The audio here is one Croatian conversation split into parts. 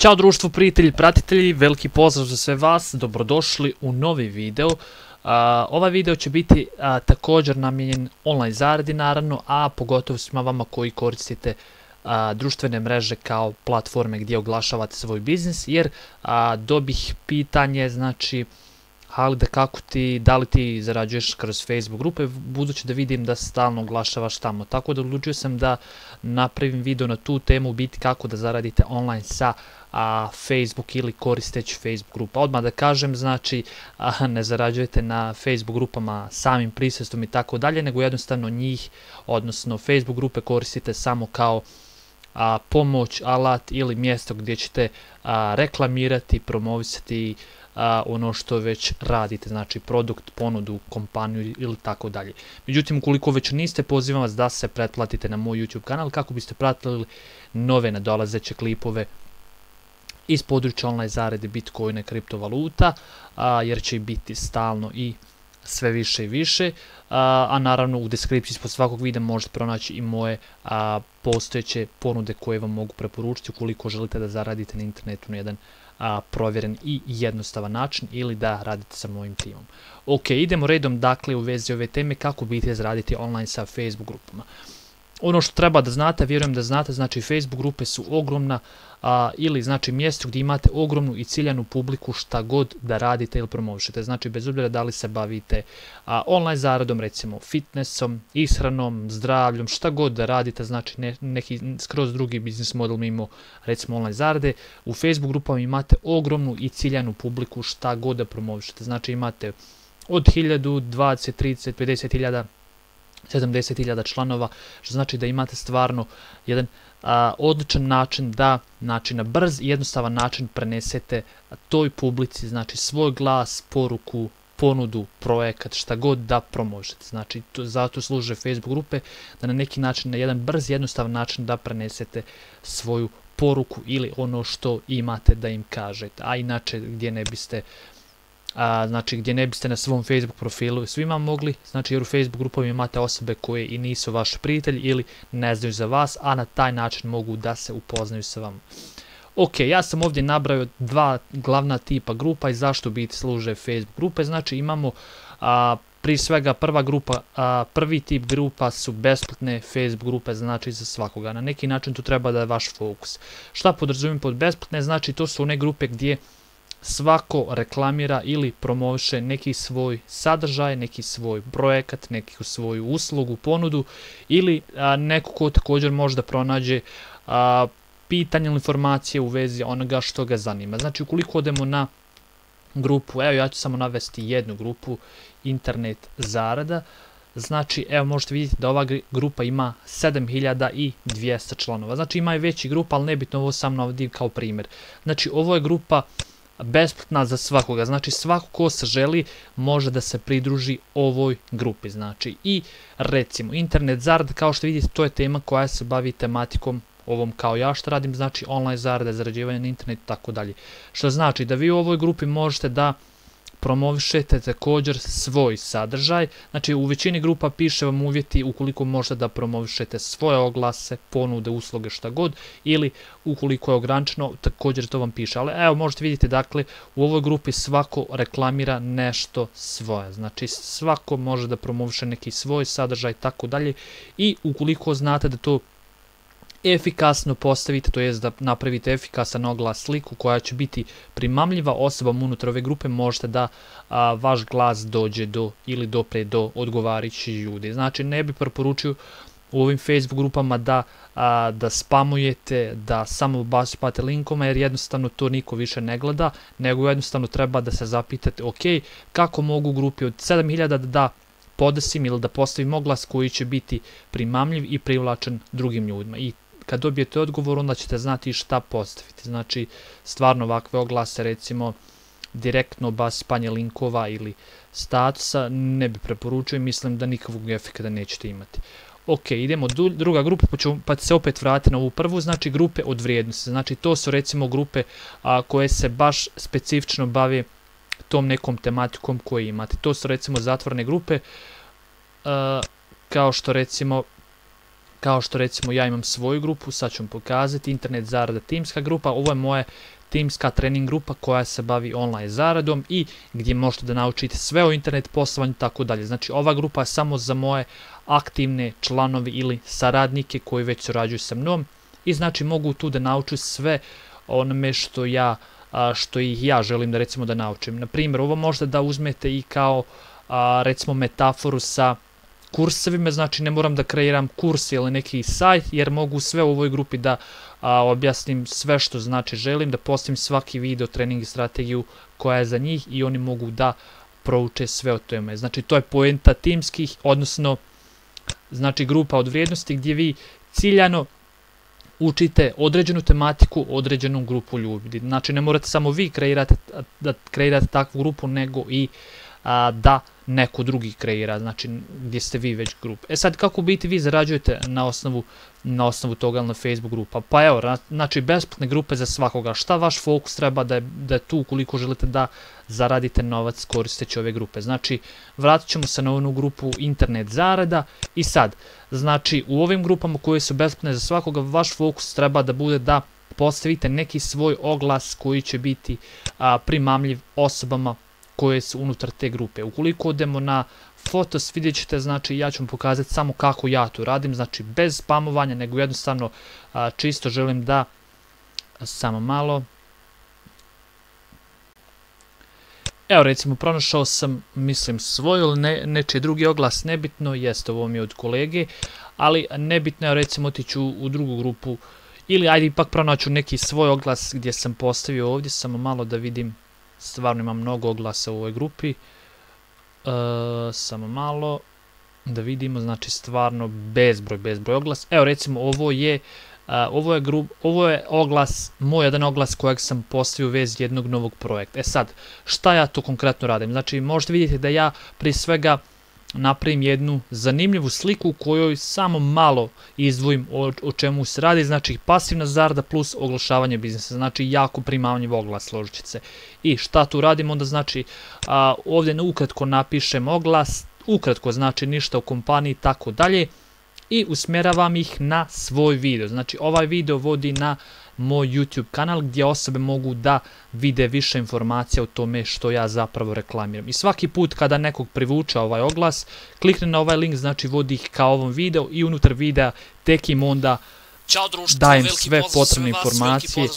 Ćao društvo, prijatelji, pratitelji, veliki pozdrav za sve vas, dobrodošli u novi video. Ovaj video će biti također namijenjen online zaradi naravno, a pogotovo svima vama koji koristite društvene mreže kao platforme gdje oglašavate svoj biznis, jer dobih pitanje, znači, ali da li ti zarađuješ kroz Facebook grupe, budući da vidim da stalno oglašavaš tamo. Tako da odlučio sam da napravim video na tu temu, biti kako da zaradite online sa Facebook ili koristeći Facebook grupa. Odmah da kažem, znači, ne zarađujete na Facebook grupama samim prisustvom i tako dalje, nego jednostavno njih, odnosno Facebook grupe koristite samo kao pomoć, alat ili mjesto gdje ćete reklamirati, promovisati ono što već radite, znači produkt, ponudu, kompaniju ili tako dalje. Međutim, ukoliko već niste, pozivam vas da se pretplatite na moj YouTube kanal kako biste pratili nove nadolazeće klipove iz područja online zarade, Bitcoina i kriptovaluta, jer će biti stalno i sve više i više, a naravno u deskripciji ispod svakog videa možete pronaći i moje postojeće ponude koje vam mogu preporučiti ukoliko želite da zaradite na internetu na jedan provjeren i jednostavan način ili da radite sa mojim timom. Ok, idemo redom dakle u vezi ove teme kako biti zaraditi online sa Facebook grupama. Ono što treba da znate, vjerujem da znate, znači Facebook grupe su ogromna ili znači mjesto gdje imate ogromnu i ciljanu publiku šta god da radite ili promovišete. Znači bez obzira da li se bavite online zaradom, recimo fitnessom, ishranom, zdravljom, šta god da radite, znači neki skroz drugi biznis model mimo recimo online zarade, u Facebook grupama imate ogromnu i ciljanu publiku šta god da promovišete. Znači imate od 1000, 20, 30, 50.000, 70.000 članova, što znači da imate stvarno jedan odličan način da, znači na brz i jednostavan način prenesete toj publici, znači svoj glas, poruku, ponudu, projekat, šta god da promovišete. Znači zato služe Facebook grupe, da na neki način, na jedan brz i jednostavan način da prenesete svoju poruku ili ono što imate da im kažete, a inače gdje ne biste na svom Facebook profilu svima mogli, znači jer u Facebook grupovima imate osobe koje i nisu vaši prijatelji ili ne znaju za vas, a na taj način mogu da se upoznaju sa vama. Ok, ja sam ovdje nabrao dva glavna tipa grupa i zašto biti služe Facebook grupe. Znači imamo prije svega prvi tip grupa su besplatne Facebook grupe, znači za svakoga. Na neki način to treba da je vaš fokus. Šta podrazumijem pod besplatne? Znači to su one grupe gdje svako reklamira ili promoviše neki svoj sadržaj, neki svoj projekat, neku svoju uslugu, ponudu ili neko ko također može da pronađe pitanje ili informacije u vezi onoga što ga zanima. Znači ukoliko odemo na grupu, evo ja ću samo navesti jednu grupu, internet zarada, znači evo možete vidjeti da ova grupa ima 7200 članova. Znači ima i veći grupa, ali nebitno, ovo sam navodim kao primjer. Znači ovo je grupa besplatna za svakoga, znači svako ko se želi može da se pridruži ovoj grupi. Znači i recimo internet zarada, kao što vidite, to je tema koja se bavi tematikom ovom kao ja što radim, znači online zarada, zarađivanje na internetu, tako dalje. Što znači da vi u ovoj grupi možete da promovišete također svoj sadržaj. Znači u većini grupa piše vam uvjeti ukoliko možete da promovišete svoje oglase, ponude, usluge, šta god, ili ukoliko je ograničeno, također to vam piše. Ali evo možete vidjeti, dakle u ovoj grupi svako reklamira nešto svoje. Znači svako može da promoviše neki svoj sadržaj, tako dalje, i ukoliko znate da to efikasno postavite, to jest da napravite efikasan oglas, sliku koja će biti primamljiva osobama unutar ove grupe, možete da vaš glas dođe ili dopre do odgovarajućih ljudi. Znači ne bi preporučio u ovim Facebook grupama da spamujete, da samo basipate linkoma, jer jednostavno to niko više ne gleda, nego jednostavno treba da se zapitate, ok, kako mogu u grupi od 7000 da podesim ili da postavim oglas koji će biti primamljiv i privlačen drugim ljudima. I kad dobijete odgovor, onda ćete znati šta postaviti. Znači stvarno ovakve oglase, recimo direktno basipanje linkova ili statusa, ne bi preporučio i mislim da nikakvog efekta nećete imati. Ok, idemo druga grupa, pa se opet vratiti na ovu prvu, znači grupe od vrijednosti. Znači to su recimo grupe koje se baš specifično bave tom nekom tematikom koju imate. To su recimo zatvorene grupe, kao što recimo kao što recimo ja imam svoju grupu, sad ću vam pokazati, internet zarada timska grupa, ovo je moja timska trening grupa koja se bavi online zaradom i gdje možete da naučite sve o internet poslovanju i tako dalje. Znači ova grupa je samo za moje aktivne članovi ili saradnike koji već surađuju sa mnom i znači mogu tu da nauču sve onome što ih ja želim da recimo da naučim. Na primjer, ovo možda da uzmete i kao recimo metaforu sa kursevima, znači ne moram da kreiram kurs ili neki sajt, jer mogu sve u ovoj grupi da objasnim sve što znači želim, da postavim svaki video, trening i strategiju koja je za njih i oni mogu da prouče sve o tome. Znači to je poenta timskih, odnosno znači grupa od vrijednosti gdje vi ciljano učite određenu tematiku, određenu grupu ljudi. Znači ne morate samo vi kreirate takvu grupu, nego i da neko drugi kreira, znači gdje ste vi već grupa. E sad, kako biti vi zarađujete na osnovu toga na Facebook grupa? Pa evo, znači besplatne grupe za svakoga. Šta vaš fokus treba da je tu ukoliko želite da zaradite novac koristeći ove grupe? Znači, vratit ćemo se na onu grupu internet zarada i sad, znači u ovim grupama koje su besplatne za svakoga, vaš fokus treba da bude da postavite neki svoj oglas koji će biti primamljiv osobama koje su unutar te grupe. Ukoliko odemo na Fotos, vidjet ćete, znači ja ću vam pokazati samo kako ja to radim, znači bez spamovanja, nego jednostavno čisto želim da, samo malo, evo recimo pronašao sam, mislim svoj ili nečiji drugi oglas, nebitno, jeste ovo mi je od kolege, ali nebitno je recimo otići u drugu grupu, ili ajde ipak pronaću neki svoj oglas gdje sam postavio ovdje, samo malo da vidim. Stvarno imam mnogo oglasa u ovoj grupi, samo malo da vidimo, znači stvarno bezbroj oglas. Evo recimo ovo je oglas, moj jedan oglas kojeg sam postavio u vezi jednog novog projekta. E sad, šta ja to konkretno radim? Znači možete vidjeti da ja prije svega napravim jednu zanimljivu sliku u kojoj samo malo izdvojim o čemu se radi, znači pasivna zarada plus oglašavanje biznisa, znači jako primamljiv oglas, složit ćete se. I šta tu radim? Onda znači ovdje ukratko napišem oglas, ukratko znači ništa o kompaniji i tako dalje i usmjeravam ih na svoj video. Znači ovaj video vodi na moj YouTube kanal gdje osobe mogu da vide više informacija o tome što ja zapravo reklamiram. I svaki put kada nekog privuče ovaj oglas, klikne na ovaj link, znači vodi ih ka ovom videu i unutar videa tek im onda dajem sve potrebne informacije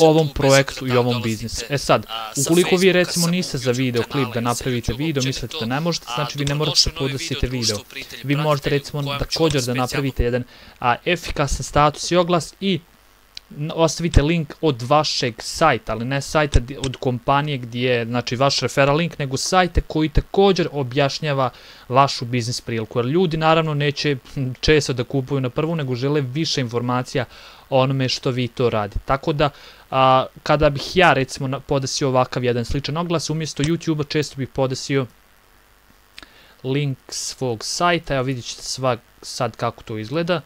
o ovom projektu i ovom biznisu. E sad, ukoliko vi recimo niste za video klip da napravite video, mislite da ne možete, znači vi ne morate da podnosite video. Vi možete recimo također da napravite jedan efikasan status i oglas i ostavite link od vašeg sajta, ali ne sajta od kompanije gdje je znači vaš referral link, nego sajte koji također objašnjava vašu biznis priliku. Jer ljudi naravno neće često da kupuju na prvu, nego žele više informacija o onome što vi to radite. Tako da kada bih ja recimo podesio ovakav jedan sličan oglas, umjesto YouTube-a često bih podesio link svog sajta. Evo vidjet ćete sad kako to izgleda.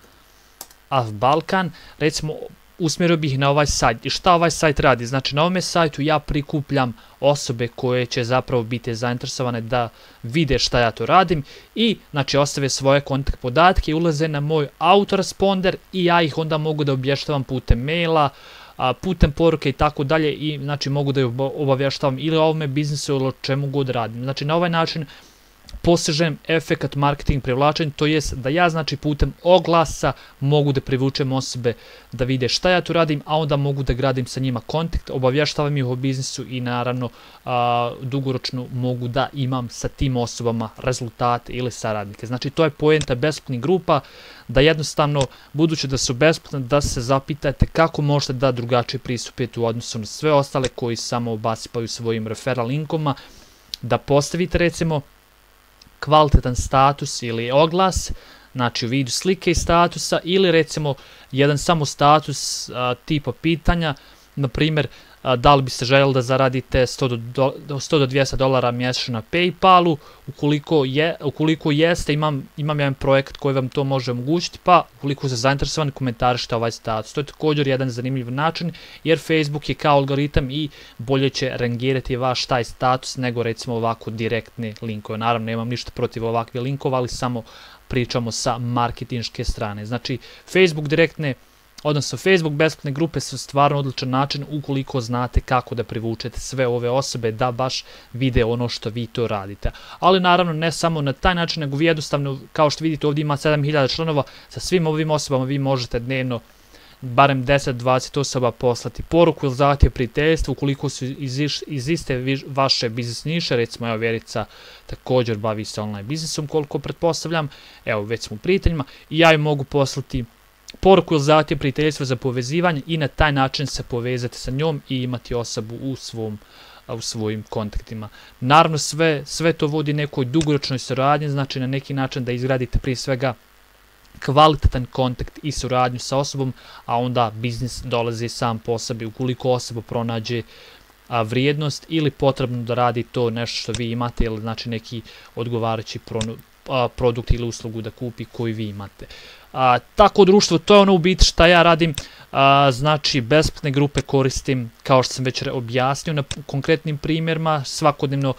AF Balkan, recimo usmjerio bih na ovaj sajt. I šta ovaj sajt radi? Znači na ovome sajtu ja prikupljam osobe koje će zapravo biti zainteresovane da vide šta ja to radim i znači ostave svoje kontakt podatke i ulaze na moj autoresponder i ja ih onda mogu da obavještavam putem maila, putem poruke i tako dalje i znači mogu da ih obavještavam ili o ovome biznisu ili o čemu god radim. Znači na ovaj način postižem efekat marketing privlačenja, to jest da ja znači putem oglasa mogu da privučem osobe da vide šta ja tu radim, a onda mogu da gradim sa njima kontakt, obavještavam ih o biznisu i naravno dugoročno mogu da imam sa tim osobama rezultate ili saradnike. Znači to je poenta besplatnih grupa, da jednostavno budući da su besplatne da se zapitate kako možete da drugačije pristupite u odnosu na sve ostale koji samo obasipaju svojim referral linkovima, da postavite recimo kvalitetan status ili oglas, znači u vidu slike i statusa ili recimo jedan samo status tipa pitanja, na primjer da li biste željeli da zaradite $100 do $200 mjesečno na PayPalu. Ukoliko jeste, imam jedan projekt koji vam to može omogućiti, pa ukoliko ste zainteresovani, komentarišite ovaj status. To je također jedan zanimljiv način, jer Facebook je kao algoritam i bolje će rangirati vaš taj status nego recimo ovako direktne linkove. Naravno, nemam ništa protiv ovakve linkova, ali samo pričamo sa marketinške strane. Znači, Facebook direktne, odnosno Facebook besplatne grupe su stvarno odličan način ukoliko znate kako da privučete sve ove osobe da baš vide ono što vi to radite. Ali naravno ne samo na taj način, nego vi jednostavno, kao što vidite ovdje ima 7000 članova, sa svim ovim osobama vi možete dnevno barem 10-20 osoba poslati poruku ili zahtjev prijateljstva ukoliko su iz iste vaše biznis niše. Recimo, evo, Verica također bavi se online biznisom, koliko pretpostavljam, evo, već smo u prijateljima i ja joj mogu poslati poruku ili zahtjev prijateljstva za povezivanje i na taj način se povezati sa njom i imati osobu u svojim kontaktima. Naravno, sve to vodi nekoj dugoročnoj suradnji, znači na neki način da izgradite prije svega kvalitetan kontakt i suradnju sa osobom, a onda biznis dolazi sam po sebi ukoliko osoba pronađe vrijednost ili potrebno da radi to nešto što vi imate, ili znači neki odgovarajući produkt ili uslugu da kupi koji vi imate. Tako društvo, to je ono u biti šta ja radim. Znači, besplatne grupe koristim, kao što sam već objasnio na konkretnim primjerima, svakodnevno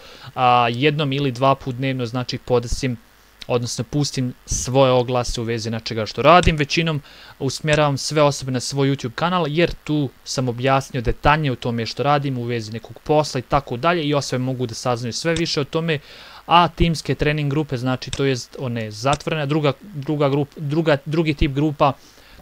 jednom ili dva put dnevno, znači podesim, odnosno pustim svoje oglase u vezi nečega što radim. Većinom usmjeravam sve osobe na svoj YouTube kanal, jer tu sam objasnio detaljnije o tome što radim u vezi nekog posla i tako dalje, i osobe mogu da saznaju sve više o tome. A timske trening grupe, znači to jest one zatvorene, drugi tip grupa,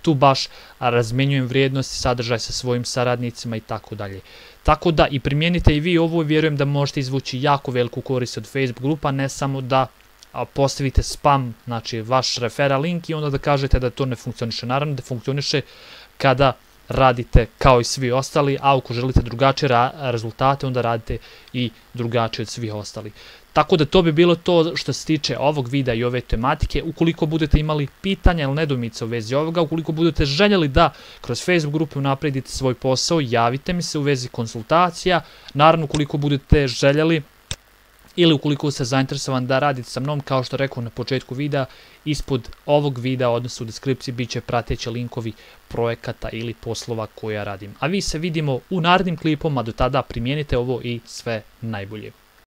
tu baš razmjenjujem vrijednosti, sadržaj sa svojim saradnicima i tako dalje. Tako da i primijenite i vi ovo i vjerujem da možete izvući jako veliku korist od Facebook grupa, ne samo da postavite spam, znači vaš referral link i onda da kažete da to ne funkcioniše. Naravno da funkcioniše kada radite kao i svi ostali, a ako želite drugačije rezultate, onda radite i drugačije od svih ostali. Tako da to bi bilo to što se tiče ovog videa i ove tematike. Ukoliko budete imali pitanja ili nedoumice u vezi ovoga, ukoliko budete željeli da kroz Facebook grupu napredite svoj posao, javite mi se u vezi konsultacija. Naravno, ukoliko budete željeli ili ukoliko ste zainteresovani da radite sa mnom, kao što rekao na početku videa, ispod ovog videa, odnosno u deskripciji, bit će prateći linkovi projekata ili poslova koje ja radim. A vi se vidimo u narednim klipom, a do tada primijenite ovo i sve najbolje.